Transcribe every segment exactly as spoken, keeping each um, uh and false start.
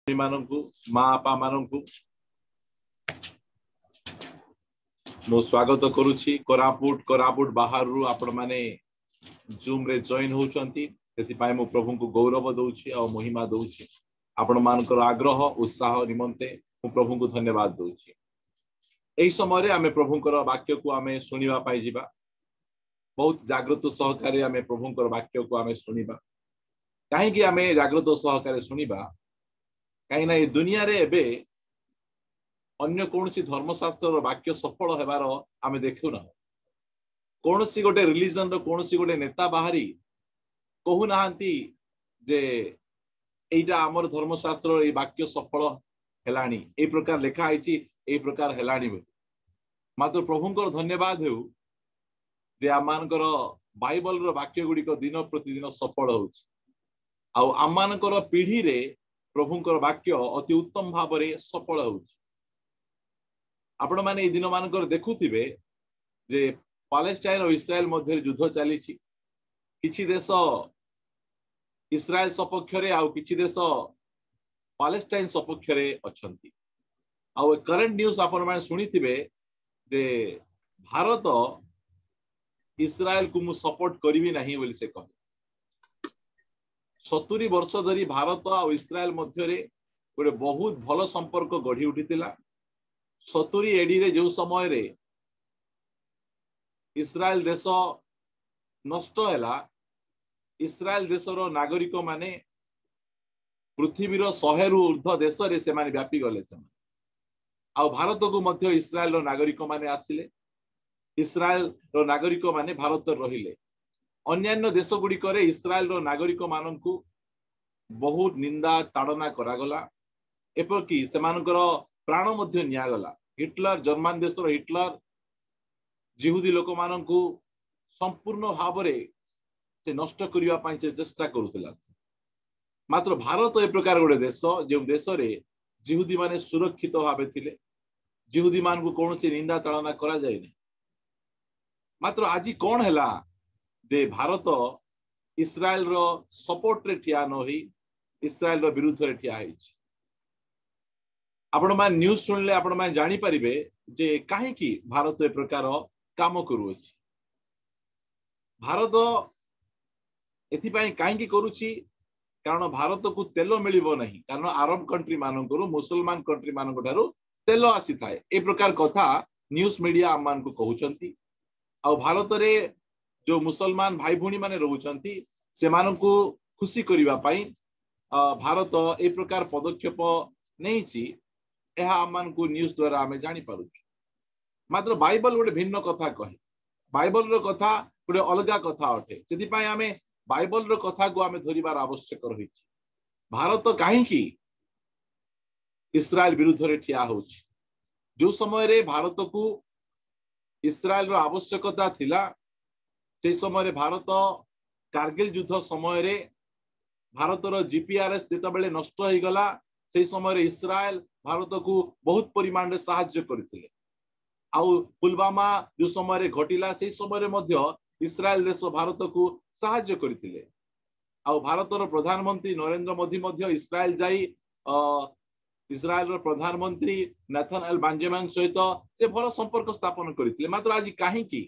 ମାନଙ୍କୁ, ମା ବାପା ମାନଙ୍କୁ ମୁଁ ସ୍ୱାଗତ କରୁଛି। କୋରାପୁଟ କୋରାପୁଟ ବାହାରରୁ ଆପଣମାନେ ଜୁମ ରେ ଜଏନ ହଉଛନ୍ତି, ସେଥିପାଇଁ ମୁଁ ପ୍ରଭୁଙ୍କୁ ଗୌରବ ଦଉଛି ଆଉ ମହିମା ଦଉଛି। ଆପଣମାନଙ୍କର ଆଗ୍ରହ ଉତ୍ସାହ ନିମନ୍ତେ ମୁଁ ପ୍ରଭୁଙ୍କୁ ଧନ୍ୟବାଦ ଦଉଛି। ଏହି ସମୟରେ ଆମେ ପ୍ରଭୁଙ୍କର ବାକ୍ୟକୁ ଆମେ ଶୁଣିବା ପାଇଁ ଯିବା। ବହୁତ ଜାଗ୍ରତ ସହକାରେ ଆମେ ପ୍ରଭୁଙ୍କର ବାକ୍ୟକୁ ଆମେ ଶୁଣିବା। କାହିଁକି ଆମେ ଜାଗ୍ରତ ସହକାରେ ଶୁଣିବା? କାହିଁକିନା ଏ ଦୁନିଆରେ ଏବେ ଅନ୍ୟ କୌଣସି ଧର୍ମଶାସ୍ତ୍ରର ବାକ୍ୟ ସଫଳ ହେବାର ଆମେ ଦେଖୁନାହୁଁ। କୌଣସି ଗୋଟେ ରିଲିଜନର କୌଣସି ଗୋଟେ ନେତା ବାହାରି କହୁନାହାନ୍ତି ଯେ ଏଇଟା ଆମର ଧର୍ମଶାସ୍ତ୍ରର ଏଇ ବାକ୍ୟ ସଫଳ ହେଲାଣି, ଏଇ ପ୍ରକାର ଲେଖା ହେଇଛି, ଏଇ ପ୍ରକାର ହେଲାଣି ବୋଲି। ମାତ୍ର ପ୍ରଭୁଙ୍କର ଧନ୍ୟବାଦ ହେଉ ଯେ ଆମମାନଙ୍କର ବାଇବଲର ବାକ୍ୟ ଗୁଡ଼ିକ ଦିନ ପ୍ରତିଦିନ ସଫଳ ହଉଛି। ଆଉ ଆମମାନଙ୍କର ପିଢିରେ ପ୍ରଭୁଙ୍କର ବାକ୍ୟ ଅତି ଉତ୍ତମ ଭାବରେ ସଫଳ ହଉଛି। ଆପଣମାନେ ଏଇ ଦିନ ମାନଙ୍କରେ ଦେଖୁଥିବେ ଯେ ପାଲେଷ୍ଟାଇନ ଓ ଇସ୍ରାଏଲ ମଧ୍ୟରେ ଯୁଦ୍ଧ ଚାଲିଛି। କିଛି ଦେଶ ଇସ୍ରାଏଲ ସପକ୍ଷରେ ଆଉ କିଛି ଦେଶ ପାଲେଷ୍ଟାଇନ ସପକ୍ଷରେ ଅଛନ୍ତି। ଆଉ କରେଣ୍ଟ ନ୍ୟୁଜ ଆପଣମାନେ ଶୁଣିଥିବେ ଯେ ଭାରତ ଇସ୍ରାଏଲକୁ ମୁଁ ସପୋର୍ଟ କରିବି ନାହିଁ ବୋଲି ସେ କହେ। ସତୁରି ବର୍ଷ ଧରି ଭାରତ ଆଉ ଇସ୍ରାଏଲ ମଧ୍ୟରେ ଗୋଟେ ବହୁତ ଭଲ ସମ୍ପର୍କ ଗଢି ଉଠିଥିଲା। ସତୁରି ଏଡିରେ ଯୋଉ ସମୟରେ ଇସ୍ରାଏଲ ଦେଶ ନଷ୍ଟ ହେଲା, ଇସ୍ରାଏଲ ଦେଶର ନାଗରିକ ମାନେ ପୃଥିବୀର ଶହେରୁ ଉର୍ଦ୍ଧ୍ୱ ଦେଶରେ ସେମାନେ ବ୍ୟାପିଗଲେ। ସେମାନେ ଆଉ ଭାରତକୁ ମଧ୍ୟ ଇସ୍ରାଏଲର ନାଗରିକ ମାନେ ଆସିଲେ। ଇସ୍ରାଏଲର ନାଗରିକ ମାନେ ଭାରତରେ ରହିଲେ। ଅନ୍ୟାନ୍ୟ ଦେଶ ଗୁଡ଼ିକରେ ଇସ୍ରାଏଲର ନାଗରିକ ମାନଙ୍କୁ ବହୁତ ନିନ୍ଦା ତାଡ଼ନା କରାଗଲା, ଏପରିକି ସେମାନଙ୍କର ପ୍ରାଣ ମଧ୍ୟ ନିଆଗଲା। ହିଟଲର, ଜର୍ମାନ ଦେଶର ହିଟଲର ଜିହୁଦୀ ଲୋକମାନଙ୍କୁ ସମ୍ପୂର୍ଣ୍ଣ ଭାବରେ ସେ ନଷ୍ଟ କରିବା ପାଇଁ ସେ ଚେଷ୍ଟା କରୁଥିଲା। ମାତ୍ର ଭାରତ ଏ ପ୍ରକାର ଗୋଟେ ଦେଶ ଯେଉଁ ଦେଶରେ ଜିହୁଦୀ ମାନେ ସୁରକ୍ଷିତ ଭାବେ ଥିଲେ, ଜିହୁଦୀ ମାନଙ୍କୁ କୌଣସି ନିନ୍ଦା ତାଡ଼ନା କରାଯାଇନି। ମାତ୍ର ଆଜି କଣ ହେଲା ଯେ ଭାରତ ଇସ୍ରାଏଲର ସପୋର୍ଟରେ ଠିଆ ନ ହୋଇ ଇସ୍ରାଏଲର ବିରୁଦ୍ଧରେ ଠିଆ ହେଇଛି। ଆପଣମାନେ ନ୍ୟୁଜ ଶୁଣିଲେ ଆପଣମାନେ ଜାଣିପାରିବେ ଯେ କାହିଁକି ଭାରତ ଏ ପ୍ରକାର କାମ କରୁଅଛି। ଭାରତ ଏଥିପାଇଁ କାହିଁକି କରୁଛି? କାରଣ ଭାରତକୁ ତେଲ ମିଳିବ ନାହିଁ। କାରଣ ଆରବ କଣ୍ଟ୍ରି ମାନଙ୍କରୁ, ମୁସଲମାନ କଣ୍ଟ୍ରି ମାନଙ୍କ ଠାରୁ ତେଲ ଆସିଥାଏ। ଏ ପ୍ରକାର କଥା ନ୍ୟୁଜ ମିଡିଆ ଆମମାନଙ୍କୁ କହୁଛନ୍ତି। ଆଉ ଭାରତରେ ଯୋଉ ମୁସଲମାନ ଭାଇ ଭଉଣୀ ମାନେ ରହୁଛନ୍ତି ସେମାନଙ୍କୁ ଖୁସି କରିବା ପାଇଁ ଭାରତ ଏ ପ୍ରକାର ପଦକ୍ଷେପ ନେଇଛି। ଏହା ଆମମାନଙ୍କୁ ନ୍ୟୁଜ ଦ୍ୱାରା ଆମେ ଜାଣିପାରୁଛୁ। ମାତ୍ର ବାଇବଲ ଗୋଟେ ଭିନ୍ନ କଥା କହେ। ବାଇବଲର କଥା ଗୋଟେ ଅଲଗା କଥା ଅଟେ। ସେଥିପାଇଁ ଆମେ ବାଇବଲର କଥାକୁ ଆମେ ଧରିବାର ଆବଶ୍ୟକ ରହିଛି। ଭାରତ କାହିଁକି ଇସ୍ରାଏଲ ବିରୁଦ୍ଧରେ ଠିଆ ହଉଛି? ଯୋଉ ସମୟରେ ଭାରତକୁ ଇସ୍ରାଏଲର ଆବଶ୍ୟକତା ଥିଲା, ସେଇ ସମୟରେ ଭାରତ କାର୍ଗିଲ ଯୁଦ୍ଧ ସମୟରେ ଭାରତର ଜିପିଆରଏସ୍ ଯେତେବେଳେ ନଷ୍ଟ ହେଇଗଲା, ସେଇ ସମୟରେ ଇସ୍ରାଏଲ ଭାରତକୁ ବହୁତ ପରିମାଣରେ ସାହାଯ୍ୟ କରିଥିଲେ। ଆଉ ପୁଲୱାମା ଯୋଉ ସମୟରେ ଘଟିଲା, ସେଇ ସମୟରେ ମଧ୍ୟ ଇସ୍ରାଏଲ ଦେଶ ଭାରତକୁ ସାହାଯ୍ୟ କରିଥିଲେ। ଆଉ ଭାରତର ପ୍ରଧାନମନ୍ତ୍ରୀ ନରେନ୍ଦ୍ର ମୋଦି ମଧ୍ୟ ଇସ୍ରାଏଲ ଯାଇ ଅ ଇସ୍ରାଏଲର ପ୍ରଧାନମନ୍ତ୍ରୀ ନାଥନ ଏଲ ବାଞ୍ଜେମାନ ସହିତ ସେ ଭଲ ସମ୍ପର୍କ ସ୍ଥାପନ କରିଥିଲେ। ମାତ୍ର ଆଜି କାହିଁକି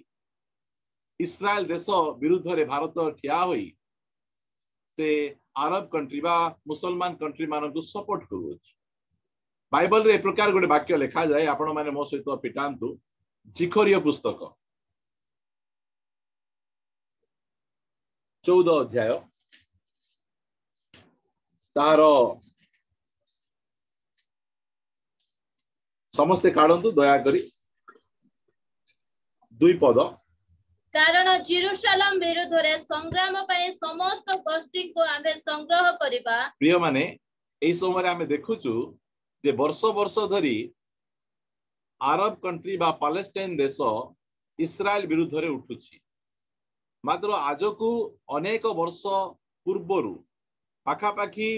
ଇସ୍ରାଏଲ ଦେଶ ବିରୁଦ୍ଧରେ ଭାରତ ଠିଆ ହୋଇ ସେ ଆରବ କଣ୍ଟ୍ରି ବା ମୁସଲମାନ କଣ୍ଟ୍ରି ମାନଙ୍କୁ ସପୋର୍ଟ କରୁଅଛି? ବାଇବଲରେ ଏ ପ୍ରକାର ଗୋଟେ ବାକ୍ୟ ଲେଖାଯାଏ, ଆପଣମାନେ ମୋ ସହିତ ଫିଟାନ୍ତୁ। ଜିଖରୀୟ ପୁସ୍ତକ ଚଉଦ ଅଧ୍ୟାୟ ତାର ସମସ୍ତେ କାଢନ୍ତୁ ଦୟାକରି ଦୁଇ ପଦ। କାରଣ ଜେରୁସାଲେମ ବିରୁଦ୍ଧରେ ସଂଗ୍ରାମ ପାଇଁ ସମସ୍ତ ଗୋଷ୍ଠୀଙ୍କୁ ଆମ୍ଭେ ସଂଗ୍ରହ କରିବା। ପ୍ରିୟମାନେ, ଏଇ ସମୟରେ ଆମେ ଦେଖୁଛୁ ଯେ ବର୍ଷ ବର୍ଷ ଧରି ଆରବ କଣ୍ଟ୍ରି ବା ପାଲେଷ୍ଟାଇନ ଦେଶ ଇସ୍ରାଏଲ ବିରୁଦ୍ଧରେ ଉଠୁଛି। ମାତ୍ର ଆଜକୁ ଅନେକ ବର୍ଷ ପୂର୍ବରୁ, ପାଖାପାଖି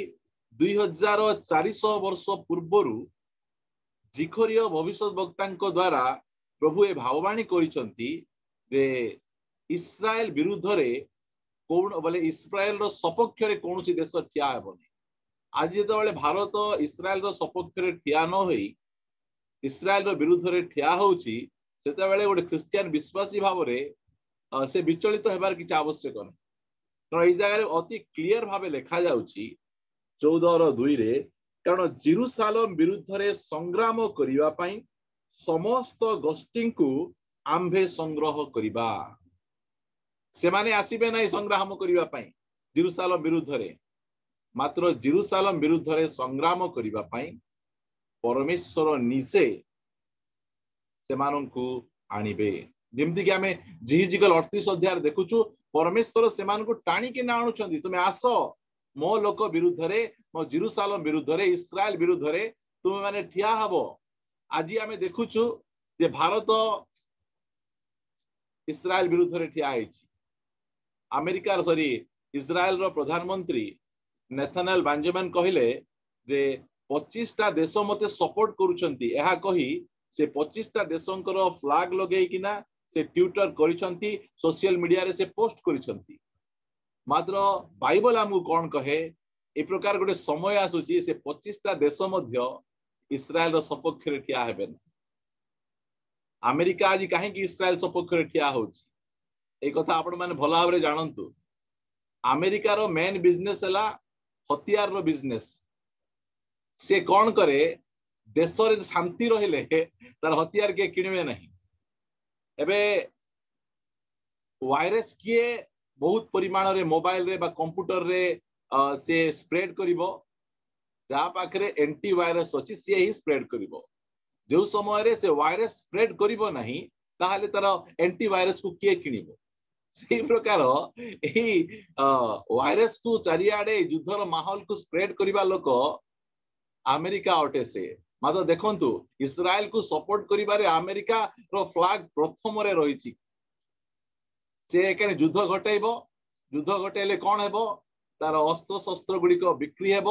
ଦୁଇ ହଜାର ଚାରିଶହ ବର୍ଷ ପୂର୍ବରୁ ଜିଖରୀୟ ଭବିଷ୍ୟତ ବକ୍ତାଙ୍କ ଦ୍ୱାରା ପ୍ରଭୁ ଏ ଭାବବାଣୀ କରିଛନ୍ତି ଯେ ଇସ୍ରାଏଲ ବିରୁଦ୍ଧରେ କୌଣ ବୋଲେ ଇସ୍ରାଏଲର ସପକ୍ଷରେ କୌଣସି ଦେଶ ଠିଆ ହେବନି। ଆଜି ଯେତେବେଳେ ଭାରତ ଇସ୍ରାଏଲର ସପକ୍ଷରେ ଠିଆ ନ ହୋଇ ଇସ୍ରାଏଲର ବିରୁଦ୍ଧରେ ଠିଆ ହଉଛି, ସେତେବେଳେ ଗୋଟେ ଖ୍ରୀଷ୍ଟିଆନ ବିଶ୍ୱାସୀ ଭାବରେ ସେ ବିଚଳିତ ହେବାର କିଛି ଆବଶ୍ୟକ ନାହିଁ। କାରଣ ଏଇ ଜାଗାରେ ଅତି କ୍ଲିୟର ଭାବେ ଲେଖାଯାଉଛି ଚଉଦର ଦୁଇରେ, କାରଣ ଜିରୁସାଲମ ବିରୁଦ୍ଧରେ ସଂଗ୍ରାମ କରିବା ପାଇଁ ସମସ୍ତ ଗୋଷ୍ଠୀଙ୍କୁ ଆମ୍ଭେ ସଂଗ୍ରହ କରିବା। ସେମାନେ ଆସିବେ ନାହିଁ ସଂଗ୍ରାମ କରିବା ପାଇଁ ଜିରୁସାଲମ ବିରୁଦ୍ଧରେ, ମାତ୍ର ଜିରୁସାଲମ ବିରୁଦ୍ଧରେ ସଂଗ୍ରାମ କରିବା ପାଇଁ ପରମେଶ୍ୱର ନିଜେ ସେମାନଙ୍କୁ ଆଣିବେ। ଯେମିତିକି ଆମେ ଯିହିଜିକଲ ଅଠତିରିଶ ଅଧ୍ୟାୟରେ ଦେଖୁଛୁ, ପରମେଶ୍ୱର ସେମାନଙ୍କୁ ଟାଣିକି ନା ଆଣୁଛନ୍ତି, ତୁମେ ଆସ ମୋ ଲୋକ ବିରୁଦ୍ଧରେ, ମୋ ଜିରୁସାଲମ ବିରୁଦ୍ଧରେ, ଇସ୍ରାଏଲ ବିରୁଦ୍ଧରେ ତୁମେ ମାନେ ଠିଆ ହବ। ଆଜି ଆମେ ଦେଖୁଛୁ ଯେ ଭାରତ ଇସ୍ରାଏଲ ବିରୁଦ୍ଧରେ ଠିଆ ହେଇଛି। ଆମେରିକାର ସରି ଇସ୍ରାଏଲର ପ୍ରଧାନମନ୍ତ୍ରୀ ନେଥାନାଲ ବାଞ୍ଜମାନ କହିଲେ ଯେ ପଚିଶଟା ଦେଶ ମତେ ସପୋର୍ଟ କରୁଛନ୍ତି। ଏହା କହି ସେ ପଚିଶଟା ଦେଶଙ୍କର ଫ୍ଲାଗ ଲଗେଇକିନା ସେ ଟ୍ୱିଟର କରିଛନ୍ତି, ସୋସିଆଲ ମିଡିଆରେ ସେ ପୋଷ୍ଟ କରିଛନ୍ତି। ମାତ୍ର ବାଇବଲ ଆମକୁ କଣ କହେ? ଏ ପ୍ରକାର ଗୋଟେ ସମୟ ଆସୁଛି ସେ ପଚିଶଟା ଦେଶ ମଧ୍ୟ ଇସ୍ରାଏଲର ସପକ୍ଷରେ ଠିଆ ହେବେ ନା। ଆମେରିକା ଆଜି କାହିଁକି ଇସ୍ରାଏଲ ସପକ୍ଷରେ ଠିଆ ହଉଛି, ଏଇ କଥା ଆପଣ ମାନେ ଭଲ ଭାବରେ ଜାଣନ୍ତୁ। ଆମେରିକାର ମେନ୍ ବିଜନେସ ହେଲା ହତିଆରର ବିଜନେସ। ସେ କଣ କରେ, ଦେଶରେ ଶାନ୍ତି ରହିଲେ ତାର ହତିଆର କିଏ କିଣିବେ ନାହିଁ। ଏବେ ୱାଇରସ୍ କିଏ ବହୁତ ପରିମାଣରେ ମୋବାଇଲରେ ବା କମ୍ପ୍ୟୁଟରରେ ସେ ସ୍ପ୍ରେଡ କରିବ, ଯାହା ପାଖରେ ଏଣ୍ଟି ଭାଇରସ ଅଛି ସିଏ ହିଁ ସ୍ପ୍ରେଡ କରିବ। ଯୋଉ ସମୟରେ ସେ ୱାଇରସ୍ ସ୍ପ୍ରେଡ କରିବ ନାହିଁ, ତାହେଲେ ତାର ଏଣ୍ଟି ଭାଇରସକୁ କିଏ କିଣିବ? ସେଇ ପ୍ରକାର ଏଇ ୱାଇରସ କୁ ଚାରିଆଡେ ଯୁଦ୍ଧର ମାହୋଲକୁ ସ୍ପ୍ରେଡ କରିବା ଲୋକ ଆମେରିକା ଅଟେ ସେ। ମାତ୍ର ଦେଖନ୍ତୁ, ଇସ୍ରାଏଲକୁ ସପୋର୍ଟ କରିବାରେ ଆମେରିକାର ଫ୍ଲାଗ ପ୍ରଥମରେ ରହିଛି। ସେ ଏখানে ଯୁଦ୍ଧ ଘଟେଇବ, ଯୁଦ୍ଧ ଘଟେଇଲେ କଣ ହେବ? ତାର ଅସ୍ତ୍ର ଶସ୍ତ୍ର ଗୁଡିକ ବିକ୍ରି ହେବ।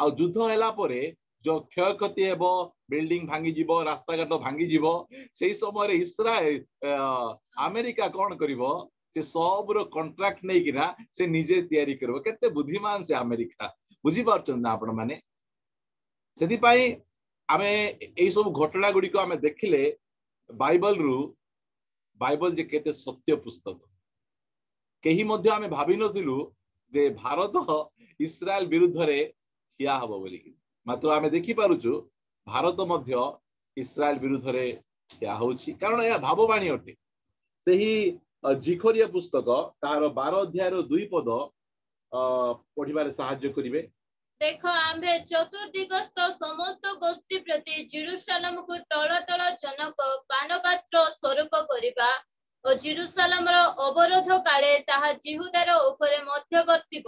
ଆଉ ଯୁଦ୍ଧ ହେଲା ପରେ ଯୋଉ କ୍ଷୟକ୍ଷତି ହେବ, ବିଲ୍ଡିଂ ଭାଙ୍ଗିଯିବ, ରାସ୍ତାଘାଟ ଭାଙ୍ଗିଯିବ, ସେଇ ସମୟରେ ଇସ୍ରାଏଲ ଆମେରିକା କଣ କରିବ? ସେ ସବୁର କଣ୍ଟ୍ରାକ୍ଟ ନେଇକିନା ସେ ନିଜେ ତିଆରି କରିବ। କେତେ ବୁଦ୍ଧିମାନ ସେ ଆମେରିକା, ବୁଝିପାରୁଛନ୍ତି ନା ଆପଣ ମାନେ? ସେଥିପାଇଁ ଆମେ ଏଇ ସବୁ ଘଟଣା ଗୁଡିକ ଆମେ ଦେଖିଲେ ବାଇବଲରୁ, ବାଇବଲ ଯେ କେତେ ସତ୍ୟ ପୁସ୍ତକ। କେହି ମଧ୍ୟ ଆମେ ଭାବିନଥିଲୁ ଯେ ଭାରତ ଇସ୍ରାଏଲ ବିରୁଦ୍ଧରେ ଠିଆ ହବ ବୋଲିକି, ମାତ୍ର ଆମେ ଦେଖିପାରୁଛୁ ଭାରତ ମଧ୍ୟ ଇସ୍ରାଏଲ ବିରୁଦ୍ଧରେ ଠିଆ ହଉଛି, କାରଣ ଏହା ଭାବବାଣୀ ଅଟେ। ସେହି ଜିଖରିଆ ପୁସ୍ତକ ତାହାର ବାର ଅଧ୍ୟାୟର ଦୁଇ ପଦ ଅ ପଢିବାରେ ସାହାଯ୍ୟ କରିବେ। ଦେଖ, ଆମ୍ଭେ ଚତୁର୍ଦିଗସ୍ଥ ସମସ୍ତ ଗୋଷ୍ଠୀ ପ୍ରତି ଜିରୁସାଲମକୁ ଟଳ ଟଳ ଜନକ ପାନପାତ୍ର ସ୍ୱରୂପ କରିବା ଓ ଜିରୁସାଲମର ଅବରୋଧ କାଳେ ତାହା ଯିହୁଦାର ଉପରେ ମଧ୍ୟବର୍ତ୍ତିବ।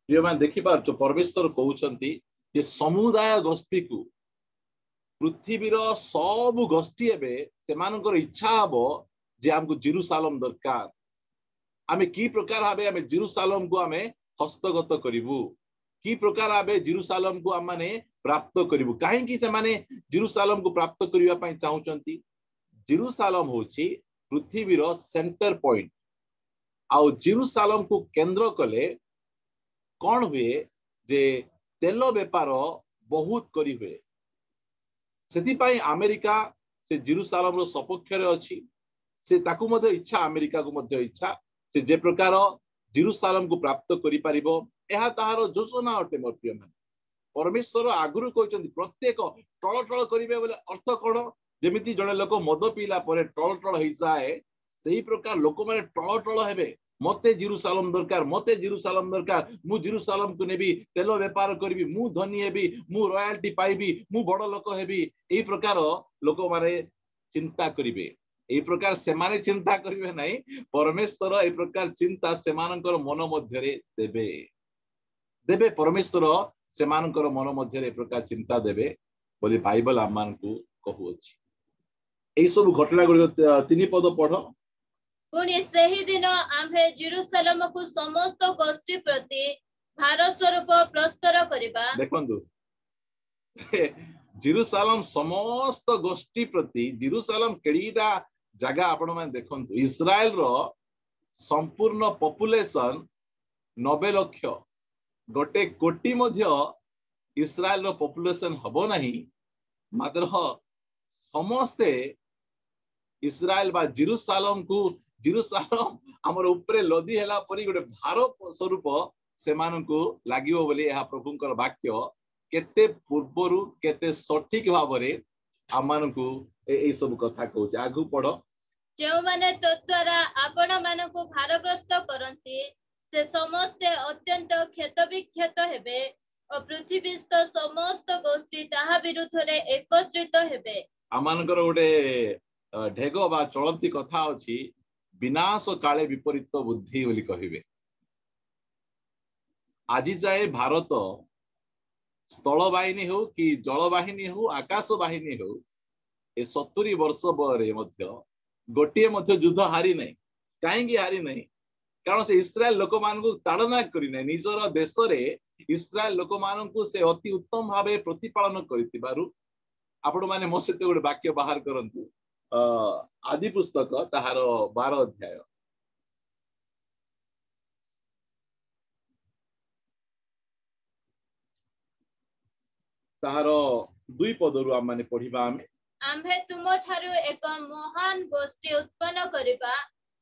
ପ୍ରିୟମାନେ, ଦେଖିପାରୁଛ ପରମେଶ୍ୱର କହୁଛନ୍ତି ଯେ ସମୁଦାୟ ଗୋଷ୍ଠୀକୁ, ପୃଥିବୀର ସବୁ ଗୋଷ୍ଠୀ ଏବେ ସେମାନଙ୍କର ଇଚ୍ଛା ହବ ଯେ ଆମକୁ ଜିରୁସାଲମ ଦରକାର। ଆମେ କି ପ୍ରକାର ଭାବେ ଆମେ ଜିରୁସାଲମକୁ ଆମେ ହସ୍ତଗତ କରିବୁ, କି ପ୍ରକାର ଭାବେ ଜିରୁସାଲମକୁ ଆମମାନେ ପ୍ରାପ୍ତ କରିବୁ। କାହିଁକି ସେମାନେ ଜିରୁସାଲମକୁ ପ୍ରାପ୍ତ କରିବା ପାଇଁ ଚାହୁଁଛନ୍ତି? ଜିରୁସାଲମ ହଉଛି ପୃଥିବୀର ସେଣ୍ଟର ପଏଣ୍ଟ। ଆଉ ଜିରୁସାଲମକୁ କେନ୍ଦ୍ର କଲେ କଣ ହୁଏ ଯେ ତେଲ ବେପାର ବହୁତ କରି ହୁଏ। ସେଥିପାଇଁ ଆମେରିକା ସେ ଜିରୁସାଲମର ସପକ୍ଷରେ ଅଛି। ସେ ତାକୁ ମଧ୍ୟ ଇଚ୍ଛା, ଆମେରିକାକୁ ମଧ୍ୟ ଇଚ୍ଛା ସେ ଯେ ପ୍ରକାର ଜିରୁସାଲମକୁ ପ୍ରାପ୍ତ କରିପାରିବ, ଏହା ତାହାର ଯୋଜନା ଅଟେ। ମୋ ପ୍ରିୟମାନେ, ପରମେଶ୍ୱର ଆଗରୁ କହିଛନ୍ତି ପ୍ରତ୍ୟେକ ଟଳ ଟଳ କରିବେ ବୋଲେ ଅର୍ଥ କଣ? ଯେମିତି ଜଣେ ଲୋକ ମଦ ପିଇଲା ପରେ ଟଳ ଟଳ ହେଇଯାଏ, ସେଇ ପ୍ରକାର ଲୋକମାନେ ଟଳ ଟଳ ହେବେ। ମତେ ଜିରୁସାଲମ ଦରକାର, ମତେ ଜିରୁସାଲମ ଦରକାର, ମୁଁ ଜିରୁସାଲମକୁ ନେବି, ତେଲ ବେପାର କରିବି, ମୁଁ ଧନୀ ହେବି, ମୁଁ ରୟାଲଟି ପାଇବି, ମୁଁ ବଡ ଲୋକ ହେବି। ଏଇ ପ୍ରକାର ଲୋକମାନେ ଚିନ୍ତା କରିବେ। ଏଇ ପ୍ରକାର ସେମାନେ ଚିନ୍ତା କରିବେ ନାହିଁ, ପରମେଶ୍ୱର ଏଇ ପ୍ରକାର ଚିନ୍ତା ସେମାନଙ୍କର ମନ ମଧ୍ୟରେ ଦେବେ ଦେବେ ପରମେଶ୍ୱର ସେମାନଙ୍କର ମନ ମଧ୍ୟରେ ଏ ପ୍ରକାର ଚିନ୍ତା ଦେବେ ବୋଲି ବାଇବଲ ଆମମାନଙ୍କୁ କହୁଅଛି। ଏଇ ସବୁ ଘଟଣା ଗୁଡିକ ତିନି ପଦ ପଢ। ପୁଣି ସେହି ଦିନ ଆମ୍ଭେ ଜିରୁସାଲମକୁ ସମସ୍ତ ଗୋଷ୍ଠୀ ପ୍ରତି ଭାର ସ୍ୱରୂପ ପ୍ରସ୍ତର କରିବା। ଦେଖନ୍ତୁ, ଜିରୁସାଲମ ସମସ୍ତ ଗୋଷ୍ଠୀ ପ୍ରତି, ଜିରୁସାଲମ କେଡ଼ିଟା ଜାଗା ଆପଣ ମାନେ ଦେଖନ୍ତୁ। ଇସ୍ରାଏଲର ସମ୍ପୂର୍ଣ୍ଣ ପପୁଲେସନ ନବେ ଲକ୍ଷ, ଗୋଟେ କୋଟି ମଧ୍ୟ ଇସ୍ରାଏଲର ପପୁଲେସନ ହବ ନାହିଁ, ମାତ୍ର ସମସ୍ତେ ଇସ୍ରାଏଲ ବା ଜିରୁସାଲମକୁ, ଜିରୁସାଲମ ଆମର ଉପରେ ଲଦି ହେଲା ପରି ଗୋଟେ ଭାର ସ୍ୱରୂପ ସେମାନଙ୍କୁ ଲାଗିବ ବୋଲି ଏହା ପ୍ରଭୁଙ୍କର ବାକ୍ୟ କେତେ ପୂର୍ବରୁ କେତେ ସଠିକ ଭାବରେ ଆମମାନଙ୍କୁ ଏଇ ସବୁ କଥା କହୁଛି। ଆଗକୁ ପଢ। ଯେଉଁମାନେ ତଦ୍ୱାରା ଆପଣ ମାନଙ୍କୁ ଭାରଗ୍ରସ୍ତ କରନ୍ତି ସେ ସମସ୍ତେ ଅତ୍ୟନ୍ତ କ୍ଷତବିକ୍ଷତ ହେବେ ଓ ପୃଥିବୀସ୍ଥ ସମସ୍ତ ଗୋଷ୍ଠୀ ତାହା ବିରୁଦ୍ଧରେ ଏକତ୍ରିତ ହେବେ। ଆମମାନଙ୍କର ଗୋଟେ ଢେଗ ବା ଚଳନ୍ତି କଥା ଅଛି, ବିନାଶ କାଳେ ବିପରୀତ ବୁଦ୍ଧି ବୋଲି କହିବେ। ଆଜି ଯାଏ ଭାରତ ସ୍ଥଳ ବାହିନୀ ହଉ କି ଜଳ ବାହିନୀ ହଉ ଆକାଶ ବାହିନୀ ହଉ, ଏ ସତୁରି ବର୍ଷ ପରେ ମଧ୍ୟ ଗୋଟିଏ ମଧ୍ୟ ଯୁଦ୍ଧ ହାରି ନାହିଁ। କାହିଁକି ହାରି ନାହିଁ? କାରଣ ସେ ଇସ୍ରାଏଲ ଲୋକମାନଙ୍କୁ ତାଡ଼ନା କରିନାହିଁ। ନିଜର ଦେଶରେ ଇସ୍ରାଏଲ ଲୋକମାନଙ୍କୁ ସେ ଅତି ଉତ୍ତମ ଭାବେ ପ୍ରତିପାଳନ କରିଥିବାରୁ। ଆପଣମାନେ ମୋ ସହିତ ଗୋଟେ ବାକ୍ୟ ବାହାର କରନ୍ତୁ, ଅ ଆଦି ପୁସ୍ତକ ତାହାର ବାର ଅଧ୍ୟାୟ। ତାହାର ଦୁଇ ପଦରୁ ଆମମାନେ ପଢିବା। ଆମେ ଆମ୍ଭେ ତୁମଠାରୁ ଏକ ମହାନ ଗୋଷ୍ଠୀ ଉତ୍ପନ୍ନ କରିବା,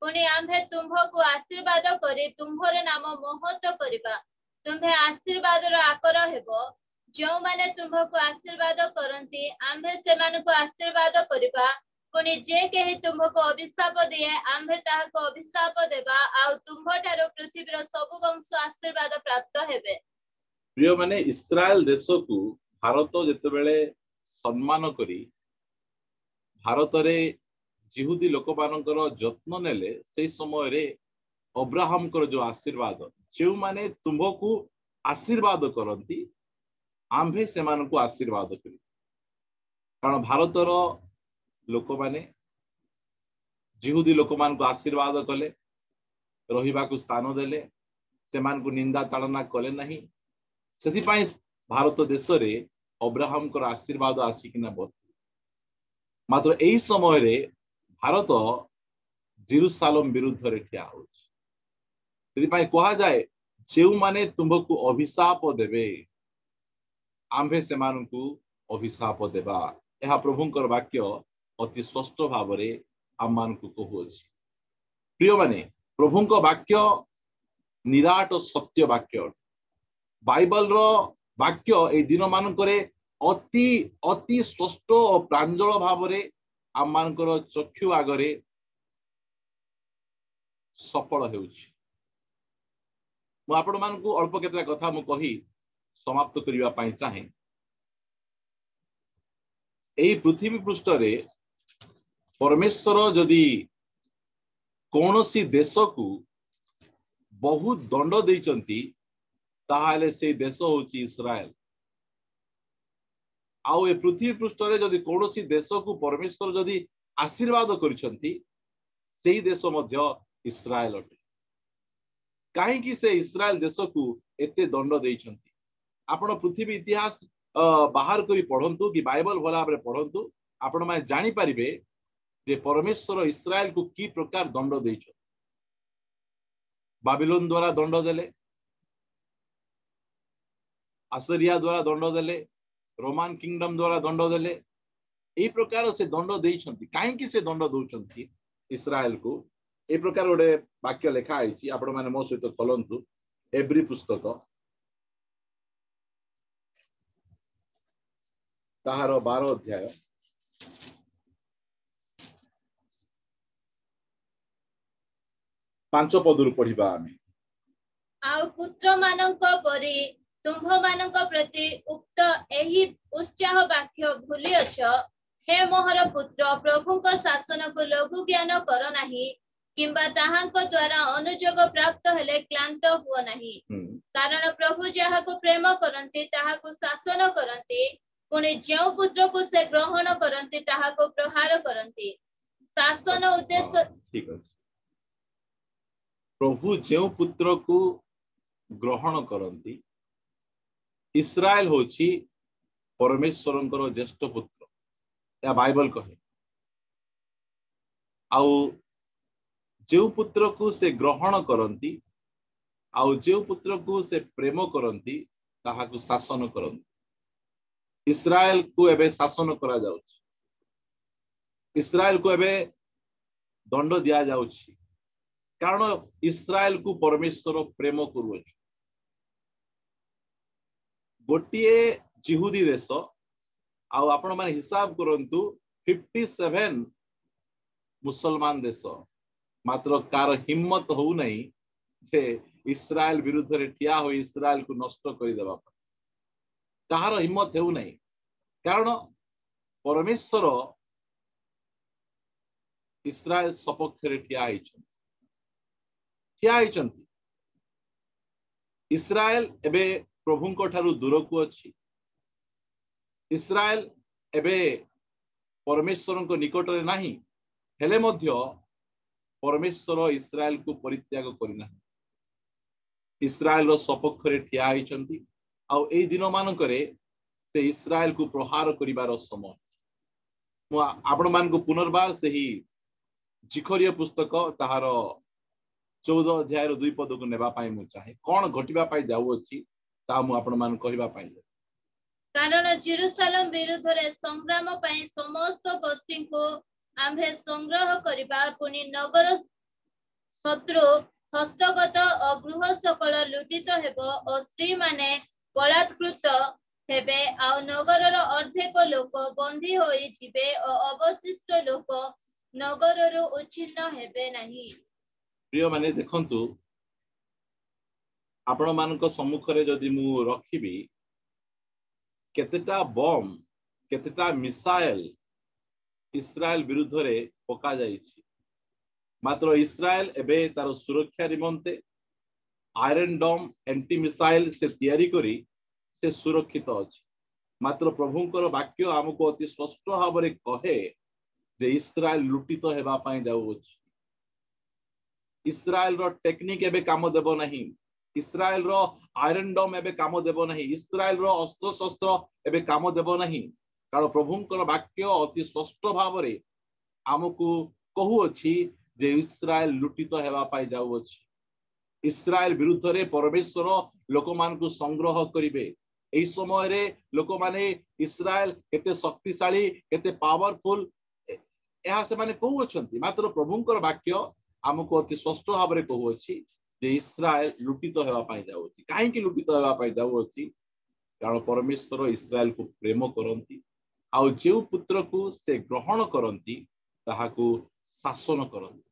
ପୁଣି ଆମ୍ଭେ ତୁମ୍ଭକୁ ଆଶୀର୍ବାଦ କରି ତୁମ୍ଭର ନାମ ମହତ କରିବା, ତୁମ୍ଭେ ଆଶୀର୍ବାଦର ଆକର ହେବ। ଯେଉଁମାନେ ତୁମ୍ଭକୁ ଆଶୀର୍ବାଦ କରନ୍ତି ଆମ୍ଭେ ସେମାନଙ୍କୁ ଆଶୀର୍ବାଦ କରିବା, ପୁଣି ଯେ କେହି ତୁମ୍ଭକୁ ଅଭିଶାପ ଦିଏ ଆମ୍ଭେ ତାହାକୁ ଅଭିଶାପ ଦେବା, ଆଉ ତୁମ୍ଭଠାରୁ ପୃଥିବୀର ସବୁ ବଂଶ ଆଶୀର୍ବାଦ ପ୍ରାପ୍ତ ହେବେ। ପ୍ରିୟମାନେ, ଇସ୍ରାଏଲ ଦେଶକୁ ଭାରତ ଯେତେବେଳେ ସମ୍ମାନ କରି ଭାରତରେ ଯିହୁଦୀ ଲୋକମାନଙ୍କର ଯତ୍ନ ନେଲେ, ସେଇ ସମୟରେ ଅବ୍ରାହମଙ୍କର ଯୋଉ ଆଶୀର୍ବାଦ, ଯେଉଁମାନେ ତୁମ୍ଭକୁ ଆଶୀର୍ବାଦ କରନ୍ତି ଆମ୍ଭେ ସେମାନଙ୍କୁ ଆଶୀର୍ବାଦ କରିବୁ। କାରଣ ଭାରତର ଲୋକମାନେ ଯିହୁଦୀ ଲୋକମାନଙ୍କୁ ଆଶୀର୍ବାଦ କଲେ, ରହିବାକୁ ସ୍ଥାନ ଦେଲେ, ସେମାନଙ୍କୁ ନିନ୍ଦା ତାଡ଼ନା କଲେ ନାହିଁ। ସେଥିପାଇଁ ଭାରତ ଦେଶରେ ଅବ୍ରାହମଙ୍କର ଆଶୀର୍ବାଦ ଆସିକିନା ବର୍ତ୍ତି। ମାତ୍ର ଏଇ ସମୟରେ ଭାରତ ଜିରୁସାଲମ ବିରୁଦ୍ଧରେ ଠିଆ ହଉଛି। ସେଥିପାଇଁ କୁହାଯାଏ, ଯେଉଁମାନେ ତୁମ୍ଭକୁ ଅଭିଶାପ ଦେବେ ଆମ୍ଭେ ସେମାନଙ୍କୁ ଅଭିଶାପ ଦେବା। ଏହା ପ୍ରଭୁଙ୍କର ବାକ୍ୟ ଅତି ସ୍ପଷ୍ଟ ଭାବରେ ଆମମାନଙ୍କୁ କହୁଅଛି। ପ୍ରିୟମାନେ, ପ୍ରଭୁଙ୍କ ବାକ୍ୟ ନିରାଟ ସତ୍ୟ ବାକ୍ୟ ଅଟେ। ବାଇବଲର ବାକ୍ୟ ଏଇ ଦିନମାନଙ୍କରେ ଅତି ଅତି ସ୍ପଷ୍ଟ ଓ ପ୍ରାଞ୍ଜଳ ଭାବରେ ଆମମାନଙ୍କର ଚକ୍ଷୁ ଆଗରେ ସଫଳ ହେଉଛି। ମୁଁ ଆପଣମାନଙ୍କୁ ଅଳ୍ପ କେତେଟା କଥା ମୁଁ କହି ସମାପ୍ତ କରିବା ପାଇଁ ଚାହେଁ। ଏଇ ପୃଥିବୀ ପୃଷ୍ଠରେ ପରମେଶ୍ୱର ଯଦି କୌଣସି ଦେଶକୁ ବହୁତ ଦଣ୍ଡ ଦେଇଛନ୍ତି, ତାହେଲେ ସେଇ ଦେଶ ହଉଛି ଇସ୍ରାଏଲ। ଆଉ ଏ ପୃଥିବୀ ପୃଷ୍ଠରେ ଯଦି କୌଣସି ଦେଶକୁ ପରମେଶ୍ୱର ଯଦି ଆଶୀର୍ବାଦ କରିଛନ୍ତି, ସେଇ ଦେଶ ମଧ୍ୟ ଇସ୍ରାଏଲ ଅଟେ। କାହିଁକି ସେ ଇସ୍ରାଏଲ ଦେଶକୁ ଏତେ ଦଣ୍ଡ ଦେଇଛନ୍ତି? ଆପଣ ପୃଥିବୀ ଇତିହାସ ବାହାର କରି ପଢନ୍ତୁ କି ବାଇବଲ ଭଲ ଭାବରେ ପଢନ୍ତୁ, ଆପଣମାନେ ଜାଣିପାରିବେ ଯେ ପରମେଶ୍ୱର ଇସ୍ରାଏଲକୁ କି ପ୍ରକାର ଦଣ୍ଡ ଦେଇଛନ୍ତି। ବାବିଲୋନ ଦ୍ୱାରା ଦଣ୍ଡ ଦେଲେ, ଆସରିଆ ଦ୍ୱାରା ଦଣ୍ଡ ଦେଲେ, ରୋମାନ କିଙ୍ଗଡମ ଦ୍ୱାରା ଦଣ୍ଡ ଦେଲେ। ଏଇ ପ୍ରକାର ସେ ଦଣ୍ଡ ଦେଇଛନ୍ତି। କାହିଁକି ସେ ଦଣ୍ଡ ଦଉଛନ୍ତି ଇସ୍ରାଏଲକୁ? ଏଇ ପ୍ରକାର ଗୋଟେ ବାକ୍ୟ ଲେଖା ହେଇଛି, ଆପଣମାନେ ମୋ ସହିତ ଖୋଲନ୍ତୁ ଏବ୍ରୀ ପୁସ୍ତକ ତାହାର ବାର ଅଧ୍ୟାୟ। ପାଞ୍ଚ ପଦରୁ ପଢିବା ଆମେ। ଆଉ ପୁତ୍ରମାନଙ୍କ ପରି ତୁମ୍ଭମାନଙ୍କ ପ୍ରତି ଉକ୍ତ ଏହି ଉତ୍ସାହ ବାକ୍ୟ ଭୁଲିଅଛ, ହେ ମୋହର ପୁତ୍ର, ପ୍ରଭୁଙ୍କ ଶାସନକୁ ଲଘୁ ଜ୍ଞାନ କର ନାହିଁ, କିମ୍ବା ତାହାଙ୍କ ଦ୍ୱାରା ଅନୁଯୋଗ ପ୍ରାପ୍ତ ହେଲେ କ୍ଳାନ୍ତ ହୁଅ ନାହିଁ। କାରଣ ପ୍ରଭୁ ଯାହାକୁ ପ୍ରେମ କରନ୍ତି ତାହାକୁ ଶାସନ କରନ୍ତି, ପୁଣି ଯେଉଁ ପୁତ୍ରକୁ ସେ ଗ୍ରହଣ କରନ୍ତି ତାହାକୁ ପ୍ରହାର କରନ୍ତି। ଶାସନ ଉଦ୍ଦେଶ୍ୟ ଠିକ ଅଛି। ପ୍ରଭୁ ଯେଉଁ ପୁତ୍ରକୁ ଗ୍ରହଣ କରନ୍ତି, ଇସ୍ରାଏଲ ହଉଛି ପରମେଶ୍ୱରଙ୍କର ଜ୍ୟେଷ୍ଠ ପୁତ୍ର, ଏହା ବାଇବଲ କହେ। ଆଉ ଯେଉଁ ପୁତ୍ରକୁ ସେ ଗ୍ରହଣ କରନ୍ତି ଆଉ ଯେଉଁ ପୁତ୍ରକୁ ସେ ପ୍ରେମ କରନ୍ତି ତାହାକୁ ଶାସନ କରନ୍ତି। ଇସ୍ରାଏଲକୁ ଏବେ ଶାସନ କରାଯାଉଛି, ଇସ୍ରାଏଲକୁ ଏବେ ଦଣ୍ଡ ଦିଆଯାଉଛି, କାରଣ ଇସ୍ରାଏଲକୁ ପରମେଶ୍ୱର ପ୍ରେମ କରୁଅଛି। ଗୋଟିଏ ଜିହୁଦୀ ଦେଶ, ଆଉ ଆପଣ ମାନେ ହିସାବ କରନ୍ତୁ ଫିଫ୍ଟି ସେଭେନ ମୁସଲମାନ ଦେଶ, ମାତ୍ର କାହାର ହିମ୍ମତ ହଉନାହିଁ ଯେ ଇସ୍ରାଏଲ ବିରୁଦ୍ଧରେ ଠିଆ ହୋଇ ଇସ୍ରାଏଲକୁ ନଷ୍ଟ କରିଦେବା ପାଇଁ। କାହାର ହିମ୍ମତ ହେଉନାହିଁ, କାରଣ ପରମେଶ୍ୱର ଇସ୍ରାଏଲ ସପକ୍ଷରେ ଠିଆ ହେଇଛନ୍ତି, ଠିଆ ହେଇଛନ୍ତି। ଇସ୍ରାଏଲ ଏବେ ପ୍ରଭୁଙ୍କ ଠାରୁ ଦୂରକୁ ଅଛି। ଇସ୍ରାଏଲ ଏବେ ପରମେଶ୍ୱରଙ୍କ ନିକଟରେ ନାହିଁ, ହେଲେ ମଧ୍ୟ ପରମେଶ୍ୱର ଇସ୍ରାଏଲକୁ ପରିତ୍ୟାଗ କରିନାହାନ୍ତି। ଇସ୍ରାଏଲର ସପକ୍ଷରେ ଠିଆ ହେଇଛନ୍ତି। ଆଉ ଏଇ ଦିନମାନଙ୍କରେ ସେ ଇସ୍ରାଏଲକୁ ପ୍ରହାର କରିବାର ସମୟ। ମୁଁ ଆପଣମାନଙ୍କୁ ପୁନର୍ବାର ସେହି ଜିଖରିୟ ପୁସ୍ତକ ତାହାର ଚଉଦ ଅଧ୍ୟାୟର ଦୁଇ ପଦକୁ ନେବା ପାଇଁ ମୁଁ ଚାହେଁ। କଣ ଘଟିବା ପାଇଁ ଯାଉଅଛି ତାହା ମୁଁ ଆପଣମାନଙ୍କୁ କହିବା ପାଇଁ ଯାଉଛି। କାରଣ ଜେରୁସାଲେମ ବିରୁଦ୍ଧରେ ସଂଗ୍ରାମ ପାଇଁ ସମସ୍ତ ଗୋଷ୍ଠୀଙ୍କୁ ଆମ୍ଭେ ସଂଗ୍ରହ କରିବା, ପୁଣି ନଗର ଶତ୍ରୁ ହସ୍ତଗତ ଓ ଗୃହ ସକଳ ଲୁଟିତ ହେବ ଓ ସ୍ତ୍ରୀମାନେ ବଳାତ୍କୃତ ହେବେ, ଆଉ ନଗରର ଅର୍ଦ୍ଧେକ ଲୋକ ବନ୍ଦୀ ହୋଇଯିବେ ଓ ଅବଶିଷ୍ଟ ଲୋକ ନଗରରୁ ଉଚ୍ଛିନ୍ନ ହେବେ ନାହିଁ। ପ୍ରିୟମାନେ ଦେଖନ୍ତୁ, ଆପଣମାନଙ୍କ ସମ୍ମୁଖରେ ଯଦି ମୁଁ ରଖିବି କେତେଟା ବମ୍, କେତେଟା ମିସାଇଲ ଇସ୍ରାଏଲ ବିରୁଦ୍ଧରେ ପକାଯାଇଛି, ମାତ୍ର ଇସ୍ରାଏଲ ଏବେ ତାର ସୁରକ୍ଷା ନିମନ୍ତେ ଆଇରନ୍ ଡମ୍ ଆଣ୍ଟି ମିସାଇଲ ସେ ତିଆରି କରି ସେ ସୁରକ୍ଷିତ ଅଛି। ମାତ୍ର ପ୍ରଭୁଙ୍କର ବାକ୍ୟ ଆମକୁ ଅତି ସ୍ପଷ୍ଟ ଭାବରେ କହେ ଯେ ଇସ୍ରାଏଲ ଲୁଟିତ ହେବା ପାଇଁ ଯାଉଅଛି। ଇସ୍ରାଏଲର ଟେକ୍ନିକ ଏବେ କାମ ଦେବ ନାହିଁ, ଇସ୍ରାଏଲର ଆଇରନ୍ ଡମ୍ ଏବେ କାମ ଦେବ ନାହିଁ, ଇସ୍ରାଏଲର ଅସ୍ତ୍ରଶସ୍ତ୍ର ଏବେ କାମ ଦେବ ନାହିଁ। କାରଣ ପ୍ରଭୁଙ୍କର ବାକ୍ୟ ଅତି ସ୍ପଷ୍ଟ ଭାବରେ ଆମକୁ କହୁଅଛି ଯେ ଇସ୍ରାଏଲ ଲୁଟିତ ହେବା ପାଇଁ ଯାଉଅଛି। ଇସ୍ରାଏଲ ବିରୁଦ୍ଧରେ ପରମେଶ୍ୱର ଲୋକମାନଙ୍କୁ ସଂଗ୍ରହ କରିବେ। ଏହି ସମୟରେ ଲୋକମାନେ ଇସ୍ରାଏଲ କେତେ ଶକ୍ତିଶାଳୀ, କେତେ ପାୱାରଫୁଲ, ଏହା ସେମାନେ କହୁଅଛନ୍ତି, ମାତ୍ର ପ୍ରଭୁଙ୍କର ବାକ୍ୟ ଆମକୁ ଅତି ସ୍ପଷ୍ଟ ଭାବରେ କହୁଅଛି ଯେ ଇସ୍ରାଏଲ ଲୁଟିତ ହେବା ପାଇଁ ଯାଉଅଛି। କାହିଁକି ଲୁଟିତ ହେବା ପାଇଁ ଯାଉଅଛି? କାରଣ ପରମେଶ୍ୱର ଇସ୍ରାଏଲକୁ ପ୍ରେମ କରନ୍ତି, ଆଉ ଯେଉଁ ପୁତ୍ରକୁ ସେ ଗ୍ରହଣ କରନ୍ତି ତାହାକୁ ଶାସନ କରନ୍ତି।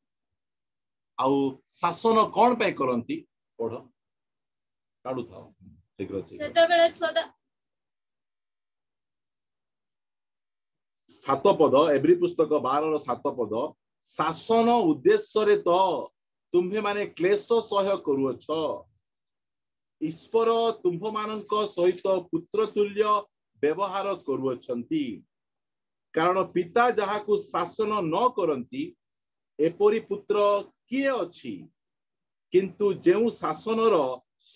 ଆଉ ଶାସନ କଣ ପାଇଁ କରନ୍ତି? ପଢ, କାଢୁଥାଅ ଶୀଘ୍ର ଶୀଘ୍ର। ସେତେବେଳେ ସଦା ସାତ ପଦ, ଏବ୍ରୀ ପୁସ୍ତକ ବାରର ସାତ ପଦ, ଶାସନ ଉଦ୍ଦେଶ୍ୟରେ ତ ତୁମ୍ଭେମାନେ କ୍ଲେଶ ସହ୍ୟ କରୁଅଛ, ଈଶ୍ୱର ତୁମ୍ଭମାନଙ୍କ ସହିତ ପୁତ୍ର ତୁଲ୍ୟ ବ୍ୟବହାର କରୁଅଛନ୍ତି। କାରଣ ପିତା ଯାହାକୁ ଶାସନ ନ କରନ୍ତି ଏପରି ପୁତ୍ର କିଏ ଅଛି? କିନ୍ତୁ ଯେଉଁ ଶାସନର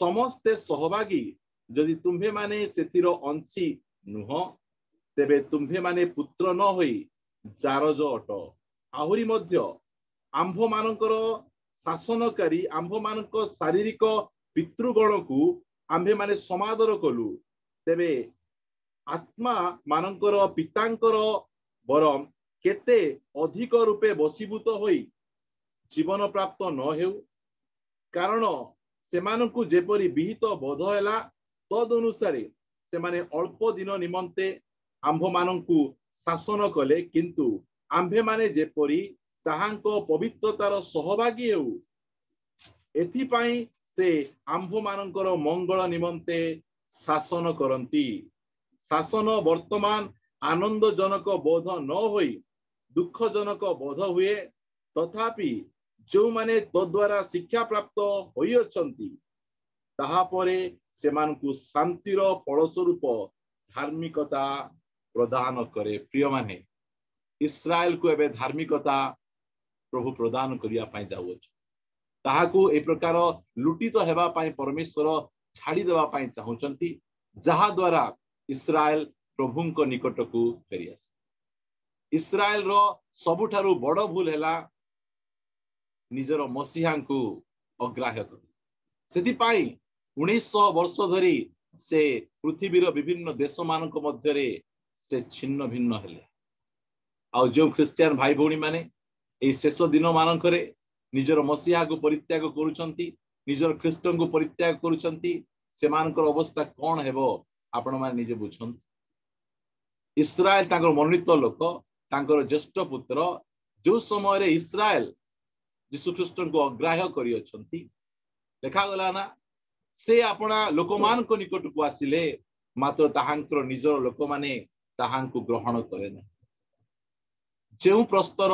ସମସ୍ତେ ସହଭାଗୀ, ଯଦି ତୁମ୍ଭେମାନେ ସେଥିର ଅଂଶୀ ନୁହଁ, ତେବେ ତୁମ୍ଭେମାନେ ପୁତ୍ର ନ ହୋଇ ଜାରଜ ଅଟ। ଆହୁରି ମଧ୍ୟ ଆମ୍ଭମାନଙ୍କର ଶାସନକାରୀ ଆମ୍ଭମାନଙ୍କ ଶାରୀରିକ ପିତୃଗଣକୁ ଆମ୍ଭେମାନେ ସମାଦର କଲୁ, ତେବେ ଆତ୍ମା ମାନଙ୍କର ପିତାଙ୍କର ବରଂ କେତେ ଅଧିକ ରୂପେ ବଶୀଭୂତ ହୋଇ ଜୀବନ ପ୍ରାପ୍ତ ନ ହେଉ। କାରଣ ସେମାନଙ୍କୁ ଯେପରି ବିହିତ ବୋଧ ହେଲା ତଦନୁସାରେ ସେମାନେ ଅଳ୍ପ ଦିନ ନିମନ୍ତେ ଆମ୍ଭମାନଙ୍କୁ ଶାସନ କଲେ, କିନ୍ତୁ ଆମ୍ଭେମାନେ ଯେପରି ତାହାଙ୍କ ପବିତ୍ରତାର ସହଭାଗୀ ହେଉ, ଏଥିପାଇଁ ସେ ଆମ୍ଭମାନଙ୍କର ମଙ୍ଗଳ ନିମନ୍ତେ ଶାସନ କରନ୍ତି। ଶାସନ ବର୍ତ୍ତମାନ ଆନନ୍ଦଜନକ ବୋଧ ନ ହୋଇ ଦୁଃଖଜନକ ବୋଧ ହୁଏ, ତଥାପି ଯେଉଁମାନେ ତଦ୍ୱାରା ଶିକ୍ଷା ପ୍ରାପ୍ତ ହୋଇଅଛନ୍ତି ତାହାପରେ ସେମାନଙ୍କୁ ଶାନ୍ତିର ଫଳସ୍ୱରୂପ ଧାର୍ମିକତା ପ୍ରଦାନ କରେ। ପ୍ରିୟମାନେ, ଇସ୍ରାଏଲକୁ ଏବେ ଧାର୍ମିକତା ପ୍ରଭୁ ପ୍ରଦାନ କରିବା ପାଇଁ ଯାଉଅଛି। ତାହାକୁ ଏ ପ୍ରକାର ଲୁଟିତ ହେବା ପାଇଁ ପରମେଶ୍ୱର ଛାଡ଼ିଦେବା ପାଇଁ ଚାହୁଁଛନ୍ତି, ଯାହା ଦ୍ୱାରା ଇସ୍ରାଏଲ ପ୍ରଭୁଙ୍କ ନିକଟକୁ ଫେରିଆସେ। ଇସ୍ରାଏଲର ସବୁଠାରୁ ବଡ ଭୁଲ ହେଲା ନିଜର ମସିହାଙ୍କୁ ଅଗ୍ରାହ୍ୟ କରି। ସେଥିପାଇଁ ଉଣେଇଶହ ବର୍ଷ ଧରି ସେ ପୃଥିବୀର ବିଭିନ୍ନ ଦେଶମାନଙ୍କ ମଧ୍ୟରେ ସେ ଛିନ୍ନ ଭିନ୍ନ ହେଲେ। ଆଉ ଯେଉଁ ଖ୍ରୀଷ୍ଟିଆନ ଭାଇ ଭଉଣୀ ମାନେ ଏଇ ଶେଷ ଦିନ ମାନଙ୍କରେ ନିଜର ମସିହାକୁ ପରିତ୍ୟାଗ କରୁଛନ୍ତି, ନିଜର ଖ୍ରୀଷ୍ଟଙ୍କୁ ପରିତ୍ୟାଗ କରୁଛନ୍ତି, ସେମାନଙ୍କର ଅବସ୍ଥା କଣ ହେବ ଆପଣମାନେ ନିଜେ ବୁଝନ୍ତୁ। ଇସ୍ରାଏଲ ତାଙ୍କର ମନୋନୀତ ଲୋକ, ତାଙ୍କର ଜ୍ୟେଷ୍ଠ ପୁତ୍ର, ଯୋଉ ସମୟରେ ଇସ୍ରାଏଲ ଯୀଶୁଖ୍ରୀଷ୍ଟଙ୍କୁ ଅଗ୍ରାହ୍ୟ କରିଅଛନ୍ତି, ଲେଖାଗଲା ନା ସେ ଆପଣା ଲୋକମାନଙ୍କ ନିକଟକୁ ଆସିଲେ, ମାତ୍ର ତାହାଙ୍କର ନିଜର ଲୋକମାନେ ତାହାଙ୍କୁ ଗ୍ରହଣ କଲେ ନାହିଁ। ଯେଉଁ ପ୍ରସ୍ତର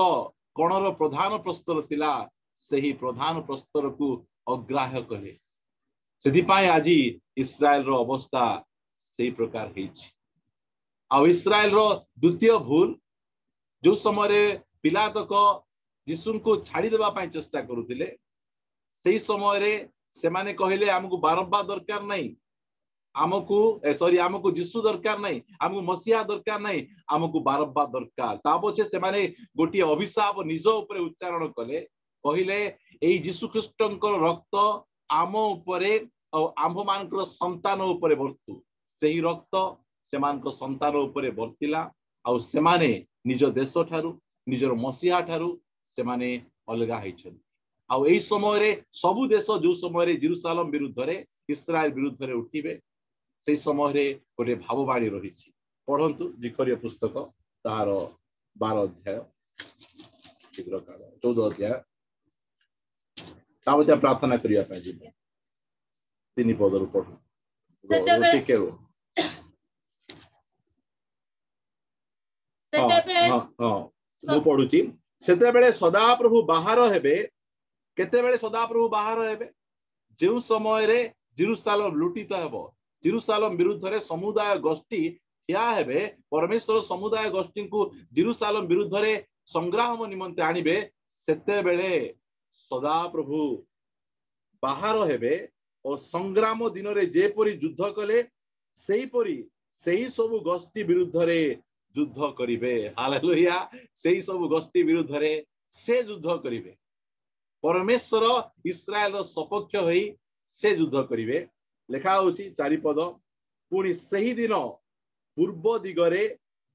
କଣର ପ୍ରଧାନ ପ୍ରସ୍ତର ଥିଲା, ସେହି ପ୍ରଧାନ ପ୍ରସ୍ତରକୁ ଅଗ୍ରାହ୍ୟ କଲେ। ସେଥିପାଇଁ ଆଜି ଇସ୍ରାଏଲର ଅବସ୍ଥା ସେଇ ପ୍ରକାର ହେଇଛି। ଆଉ ଇସ୍ରାଏଲର ଦ୍ୱିତୀୟ ଭୁଲ, ଯୋଉ ସମୟରେ ପିଲାତକ ଯୀଶୁଙ୍କୁ ଛାଡ଼ିଦେବା ପାଇଁ ଚେଷ୍ଟା କରୁଥିଲେ, ସେଇ ସମୟରେ ସେମାନେ କହିଲେ ଆମକୁ ବାରମ୍ବା ଦରକାର ନାହିଁ, ଆମକୁ ସରି ଆମକୁ ଯୀଶୁ ଦରକାର ନାହିଁ, ଆମକୁ ମସିହା ଦରକାର ନାହିଁ, ଆମକୁ ବାରମ୍ବା ଦରକାର। ତା ପଛେ ସେମାନେ ଗୋଟିଏ ଅଭିଶାପ ନିଜ ଉପରେ ଉଚ୍ଚାରଣ କଲେ, କହିଲେ ଏଇ ଯୀଶୁ ଖ୍ରୀଷ୍ଟଙ୍କର ରକ୍ତ ଆମ ଉପରେ ଆଉ ଆମ୍ଭମାନଙ୍କର ସନ୍ତାନ ଉପରେ ବର୍ତ୍ତୁ। ସେହି ରକ୍ତ ସେମାନଙ୍କ ସନ୍ତାନ ଉପରେ ବର୍ତ୍ତିଲା, ଆଉ ସେମାନେ ନିଜ ଦେଶ ଠାରୁ, ନିଜର ମସିହା ଠାରୁ ସେମାନେ ଅଲଗା ହେଇଛନ୍ତି। ଆଉ ଏଇ ସମୟରେ ସବୁ ଦେଶ ଯୋଉ ସମୟରେ ଜେରୁସାଲମ ବିରୁଦ୍ଧରେ, ଇସ୍ରାଏଲ ବିରୁଦ୍ଧରେ ଉଠିବେ, ସେଇ ସମୟରେ ଗୋଟେ ଭାବବାଣୀ ରହିଛି। ପଢନ୍ତୁ ଜିଖରିୟ ପୁସ୍ତକ ତାହାର ବାର ଅଧ୍ୟାୟ, ଶୀଘ୍ର ଚଉଦ ଅଧ୍ୟାୟ। ତାପରେ ପ୍ରାର୍ଥନା କରିବା ପାଇଁ ଯିବେ। ତିନି ପଦରୁ ପଢୁ, ଟିକେ ରୁହ। ହଁ, ମୁଁ ପଢୁଛି। ସେତେବେଳେ ସଦାପ୍ରଭୁ ବାହାର ହେବେ। କେତେବେଳେ ସଦାପ୍ରଭୁ ବାହାର ହେବେ? ଯେଉଁ ସମୟରେ ଜେରୁସାଲମ ଲୁଟିତ ହେବ, ଜେରୁସାଲମ ବିରୁଦ୍ଧରେ ସମୁଦାୟ ଗୋଷ୍ଠୀ ଠିଆ ହେବେ, ପରମେଶ୍ୱର ସମୁଦାୟ ଗୋଷ୍ଠୀଙ୍କୁ ଜେରୁସାଲମ ବିରୁଦ୍ଧରେ ସଂଗ୍ରାମ ନିମନ୍ତେ ଆଣିବେ, ସେତେବେଳେ ସଦାପ୍ରଭୁ ବାହାର ହେବେ ଓ ସଂଗ୍ରାମ ଦିନରେ ଯେପରି ଯୁଦ୍ଧ କଲେ ସେହିପରି ସେହି ସବୁ ଗୋଷ୍ଠୀ ବିରୁଦ୍ଧରେ ଯୁଦ୍ଧ କରିବେ। ହାଲେଲୁୟା! ସେଇ ସବୁ ଗୋଷ୍ଠୀ ବିରୁଦ୍ଧରେ ସେ ଯୁଦ୍ଧ କରିବେ। ପରମେଶ୍ୱର ଇସ୍ରାଏଲର ସପକ୍ଷ ହୋଇ ସେ ଯୁଦ୍ଧ କରିବେ। ଲେଖା ହଉଛି ଚାରିପଦ, ପୁଣି ସେହିଦିନ ପୂର୍ବ ଦିଗରେ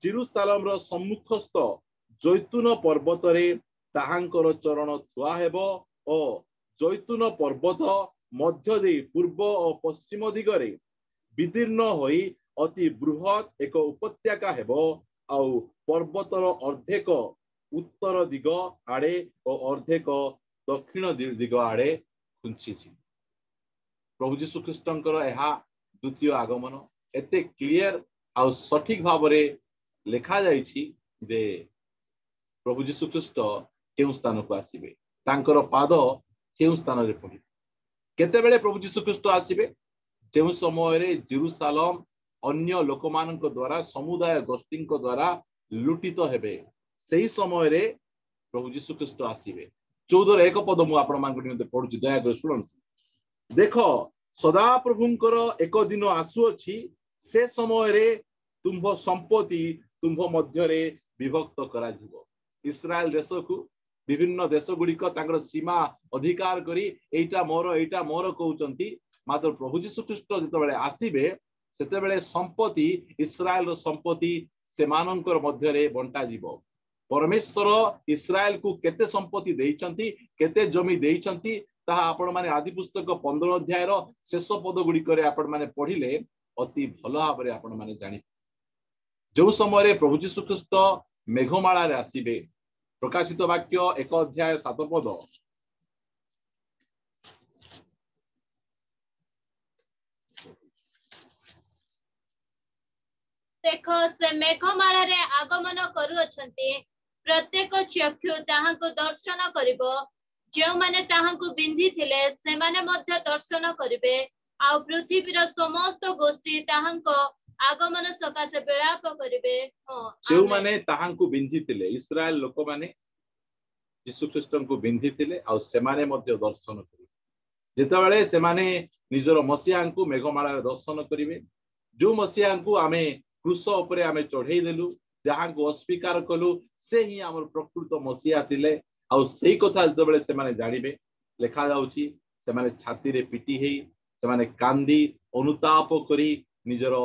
ଜେରୁସାଲମର ସମ୍ମୁଖସ୍ଥ ଜୈତୁନ ପର୍ବତରେ ତାହାଙ୍କର ଚରଣ ଥୁଆ ହେବ ଓ ଜୈତୁନ ପର୍ବତ ମଧ୍ୟ ଦେଇ ପୂର୍ବ ଓ ପଶ୍ଚିମ ଦିଗରେ ବିଦୀର୍ଣ୍ଣ ହୋଇ ଅତି ବୃହତ୍ ଏକ ଉପତ୍ୟକା ହେବ, ଆଉ ପର୍ବତର ଅର୍ଦ୍ଧେକ ଉତ୍ତର ଦିଗ ଆଡେ ଓ ଅର୍ଦ୍ଧେକ ଦକ୍ଷିଣ ଦିଗ ଆଡେ ଖୁଞ୍ଚିଛି। ପ୍ରଭୁ ଯୀଶୁ ଖ୍ରୀଷ୍ଟଙ୍କର ଏହା ଦ୍ୱିତୀୟ ଆଗମନ। ଏତେ କ୍ଲିୟର ଆଉ ସଠିକ ଭାବରେ ଲେଖାଯାଇଛି ଯେ ପ୍ରଭୁ ଯୀଶୁ ଖ୍ରୀଷ୍ଟ କେଉଁ ସ୍ଥାନକୁ ଆସିବେ, ତାଙ୍କର ପାଦ କେଉଁ ସ୍ଥାନରେ ପଡ଼ିବ, କେତେବେଳେ ପ୍ରଭୁ ଯୀଶୁ ଖ୍ରୀଷ୍ଟ ଆସିବେ, ଯେଉଁ ସମୟରେ ଜେରୁସାଲମ ଅନ୍ୟ ଲୋକମାନଙ୍କ ଦ୍ୱାରା, ସମୁଦାୟ ଗୋଷ୍ଠୀଙ୍କ ଦ୍ୱାରା ଲୁଟିତ ହେବେ, ସେହି ସମୟରେ ପ୍ରଭୁ ଯୀଶୁ ଖ୍ରୀଷ୍ଟ ଆସିବେ। ଚଉଦର ଏକ ପଦ ମୁଁ ଆପଣମାନଙ୍କ ନିମନ୍ତେ ପଢୁଛି, ଦୟାକରି ଶୁଣନ୍ତୁ। ଦେଖ, ସଦାପ୍ରଭୁଙ୍କର ଏକ ଦିନ ଆସୁଅଛି, ସେ ସମୟରେ ତୁମ୍ଭ ସମ୍ପତ୍ତି ତୁମ୍ଭ ମଧ୍ୟରେ ବିଭକ୍ତ କରାଯିବ। ଇସ୍ରାଏଲ ଦେଶକୁ ବିଭିନ୍ନ ଦେଶ ଗୁଡ଼ିକ ତାଙ୍କର ସୀମା ଅଧିକାର କରି ଏଇଟା ମୋର ଏଇଟା ମୋର କହୁଛନ୍ତି, ମାତ୍ର ପ୍ରଭୁ ଯୀଶୁ ଖ୍ରୀଷ୍ଟ ଯେତେବେଳେ ଆସିବେ ସେତେବେଳେ ସମ୍ପତ୍ତି, ଇସ୍ରାଏଲର ସମ୍ପତ୍ତି ସେମାନଙ୍କର ମଧ୍ୟରେ ବଣ୍ଟାଯିବ। ପରମେଶ୍ୱର ଇସ୍ରାଏଲକୁ କେତେ ସମ୍ପତ୍ତି ଦେଇଛନ୍ତି, କେତେ ଜମି ଦେଇଛନ୍ତି, ତାହା ଆପଣମାନେ ଆଦି ପୁସ୍ତକ ପନ୍ଦର ଅଧ୍ୟାୟର ଶେଷ ପଦ ଗୁଡ଼ିକରେ ଆପଣମାନେ ପଢିଲେ ଅତି ଭଲ ଭାବରେ ଆପଣମାନେ ଜାଣିବେ। ଯୋଉ ସମୟରେ ପ୍ରଭୁ ଯୀଶୁ ଖ୍ରୀଷ୍ଟ ମେଘମାଳାରେ ଆସିବେ, ପ୍ରକାଶିତ ବାକ୍ୟ ଏକ ଅଧ୍ୟାୟ ସାତ ପଦ, ଦେଖ, ସେ ମେଘମାଳାରେ ଆଗମନ କରୁଅଛନ୍ତି, ପ୍ରତ୍ୟେକ ଚକ୍ଷୁ ତାହାଙ୍କୁ ଦର୍ଶନ କରିବ, ଯେଉଁମାନେ ତାହାଙ୍କୁ ବିନ୍ଧିଥିଲେ ସେମାନେ ମଧ୍ୟ ଦର୍ଶନ କରିବେ, ଆଉ ପୃଥିବୀର ସମସ୍ତ ଗୋଷ୍ଠୀ ତାହାଙ୍କ ଆଗମନ ସକାଶେ ବିଳାପ କରିବେ। ଯେଉଁମାନେ ତାହାଙ୍କୁ ବିନ୍ଧିଥିଲେ, ଇସ୍ରାଏଲ ଲୋକମାନେ ଯୀଶୁ ଖ୍ରୀଷ୍ଟଙ୍କୁ ବିନ୍ଧିଥିଲେ, ଆଉ ସେମାନେ ମଧ୍ୟ ଦର୍ଶନ କରିବେ। ଯେତେବେଳେ ସେମାନେ ନିଜର ମସିହାଙ୍କୁ ମେଘମାଳାରେ ଦର୍ଶନ କରିବେ, ଯୋଉ ମସିହାଙ୍କୁ ଆମେ କ୍ରୁଶ ଉପରେ ଆମେ ଚଢେଇ ଦେଲୁ, ଯାହାଙ୍କୁ ଅସ୍ୱୀକାର କଲୁ, ସେ ହିଁ ଆମର ପ୍ରକୃତ ମସିହା ଥିଲେ। ଆଉ ସେଇ କଥା ଯେତେବେଳେ ସେମାନେ ଜାଣିବେ, ଲେଖାଯାଉଛି ସେମାନେ ଛାତିରେ ପିଟି ହେଇ ସେମାନେ କାନ୍ଦି ଅନୁତାପ କରି ନିଜର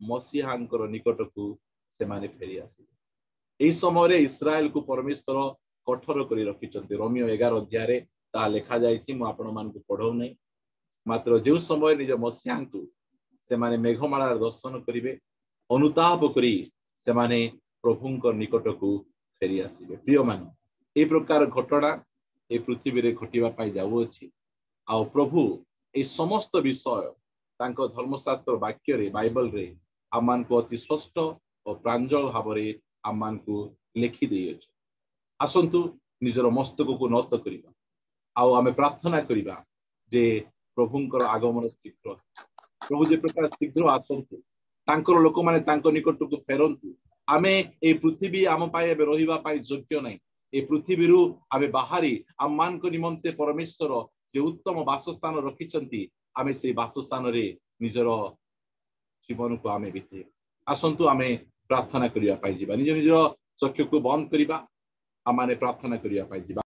ମସିହାଙ୍କର ନିକଟକୁ ସେମାନେ ଫେରି ଆସିବେ। ଏହି ସମୟରେ ଇସ୍ରାଏଲକୁ ପରମେଶ୍ୱର କଠୋର କରି ରଖିଛନ୍ତି। ରୋମୀୟ ଏଗାର ଅଧ୍ୟାୟରେ ତାହା ଲେଖାଯାଇଛି, ମୁଁ ଆପଣମାନଙ୍କୁ ପଢଉନାହିଁ। ମାତ୍ର ଯେଉଁ ସମୟରେ ନିଜ ମସିହାଙ୍କୁ ସେମାନେ ମେଘମାଳାରେ ଦର୍ଶନ କରିବେ, ଅନୁତାପ କରି ସେମାନେ ପ୍ରଭୁଙ୍କ ନିକଟକୁ ଫେରି ଆସିବେ। ପ୍ରିୟମାନେ, ଏହି ପ୍ରକାର ଘଟଣା ଏ ପୃଥିବୀରେ ଘଟିବା ପାଇଁ ଯାଉଅଛି। ଆଉ ପ୍ରଭୁ ଏଇ ସମସ୍ତ ବିଷୟ ତାଙ୍କ ଧର୍ମଶାସ୍ତ୍ର ବାକ୍ୟରେ, ବାଇବଲରେ ଆମମାନଙ୍କୁ ଅତି ସ୍ପଷ୍ଟ ଓ ପ୍ରାଞ୍ଜଳ ଭାବରେ ଆମମାନଙ୍କୁ ଲେଖି ଦେଇଅଛି। ଆସନ୍ତୁ ନିଜର ମସ୍ତକକୁ ନତ କରିବା ଆଉ ଆମେ ପ୍ରାର୍ଥନା କରିବା ଯେ ପ୍ରଭୁଙ୍କର ଆଗମନ ଶୀଘ୍ର, ପ୍ରଭୁ ଯେ ପ୍ରକାର ଶୀଘ୍ର ଆସନ୍ତୁ, ତାଙ୍କର ଲୋକମାନେ ତାଙ୍କ ନିକଟକୁ ଫେରନ୍ତୁ। ଆମେ ଏଇ ପୃଥିବୀ ଆମ ପାଇଁ ଏବେ ରହିବା ପାଇଁ ଯୋଗ୍ୟ ନାହିଁ। ଏ ପୃଥିବୀରୁ ଆମେ ବାହାରି ଆମମାନଙ୍କ ନିମନ୍ତେ ପରମେଶ୍ୱର ଯେ ଉତ୍ତମ ବାସସ୍ଥାନ ରଖିଛନ୍ତି, ଆମେ ସେଇ ବାସସ୍ଥାନରେ ନିଜର ଜୀବନକୁ ଆମେ ବିତେଇବା। ଆସନ୍ତୁ ଆମେ ପ୍ରାର୍ଥନା କରିବା ପାଇଁ ଯିବା। ନିଜ ନିଜର ଚକ୍ଷୁକୁ ବନ୍ଦ କରିବା, ଆମମାନେ ପ୍ରାର୍ଥନା କରିବା ପାଇଁ ଯିବା।